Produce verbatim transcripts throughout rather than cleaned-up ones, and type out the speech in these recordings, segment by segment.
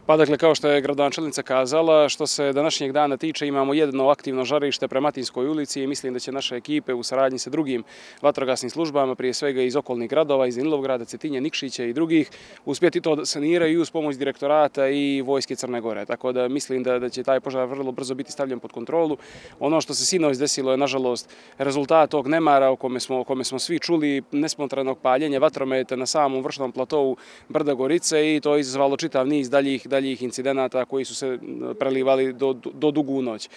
Pa dakle, kao što je gradonačelnica kazala, što se današnjeg dana tiče, imamo jedno aktivno žarište prema Matinskoj ulici i mislim da će naše ekipe u saradnji sa drugim vatrogasnim službama, prije svega iz okolnih gradova, iz Danilovgrada, Cetinje, Nikšića i drugih, uspjeti to da saniraju uz pomoć direktorata i vojske Crne Gore. Tako da mislim da, da će taj požar vrlo brzo biti stavljen pod kontrolu. Ono što se sinoć desilo je, nažalost, rezultat tog nemara o kome smo, o kome smo svi čuli, nespontanog paljenja vatrometa na samom vršnom platovu Brda Gorice, i to je izazvalo čitav niz daljih, daljih incidenata koji su se prelivali do, do dugu noć.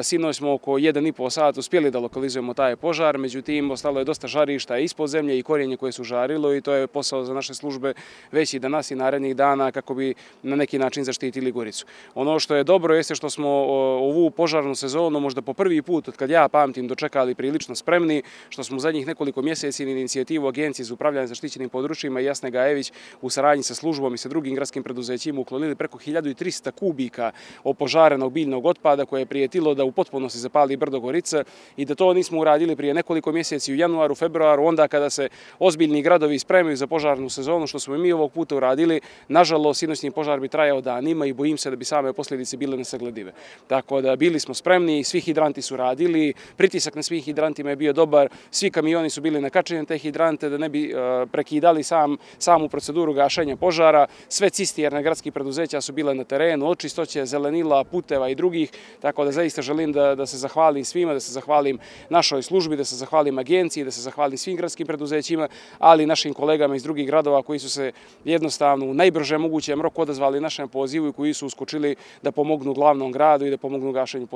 Sinoć smo oko jedan i po sat uspjeli da lokalizujemo taj požar, međutim, ostalo je dosta žarišta ispod zemlje i korijenje koje su žarilo, i to je posao za naše službe već i danas i narednih dana kako bi na neki način zaštitili Goricu. Ono što je dobro jeste što smo ovu požarnu sezonu možda po prvi put, od kad ja pamtim, dočekali prilično spremni, što smo u zadnjih nekoliko mjeseci na inicijativu Agencije za upravljanje zaštićenim područjima i Jasne Gajević u saradnji sa službom i sa drugim gradskim preduzećima uklonili preko hiljadu trista kubika opožarenog biljnog otpada koje je prijetilo da u potpunosti zapali Brdo Gorica, i da to nismo uradili prije nekoliko mjeseci u januaru, februaru, onda kada se ozbiljni gradovi spremaju za požarnu sezonu, što smo i mi ovog puta uradili. Nažalost, sinoćni požar bi trajao danima i bojim se da bi same posljedice bile nesagledive. Tako da bili smo spremni, svi hidranti su radili, pritisak na svih hidrantima je bio dobar, svi kamioni su bili nakačeni te hidrante da ne bi prekidali sam, samu proceduru gašenja požara. Sve cisterne gradskih preduzeća su bile na terenu, od čistoće zelenila, puteva i drugih, tako da zaista želim da, da se zahvalim svima, da se zahvalim našoj službi, da se zahvalim agenciji, da se zahvalim svim gradskim preduzećima, ali i našim kolegama iz drugih gradova koji su se jednostavno u najbrže mogućem roku odazvali našem pozivu i koji su uskočili da pomognu glavnom gradu i da pomognu gašenju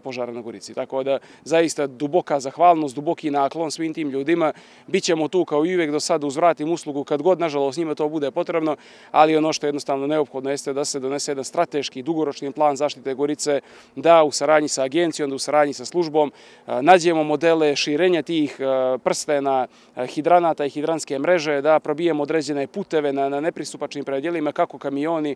požara na Gorici. Tako da zaista duboka zahvalnost, duboki naklon svim tim ljudima. Bićemo tu kao i uvijek do sada, uzvratim uslugu kad god, nažalost, njima to bude potrebno, ali ono što je jednostavno neophodno jeste da se donese jedan strateški, dugoročni plan zaštite Gorice, da u saradnji sa agencijom, da u saradnji sa službom nađemo modele širenja tih prstena, hidranata i hidranske mreže, da probijemo određene puteve na, na nepristupačnim predjelima, kako kamioni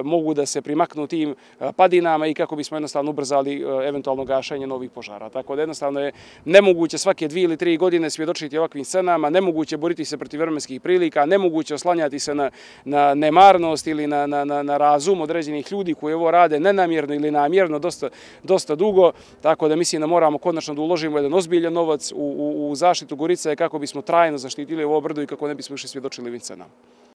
mogu da se primaknu tim padinama i kako bismo jednostavno ubrzali eventualno gašenje novih požara. Tako da jednostavno je nemoguće svake dvije ili tri godine svjedočiti ovakvim scenama, nemoguće boriti se protiv vremenskih prilika, nemoguće oslanjati se na, na nemarnost ili na, na, na razum određenih ljudi koji ovo rade nenamjerno ili namjerno dosta, dosta dugo. Tako da mislim da moramo konačno da uložimo jedan ozbiljan novac u, u, u zaštitu Gorice kako bismo trajno zaštitili ovo brdo i kako ne bismo više svjedočili ovim scenama.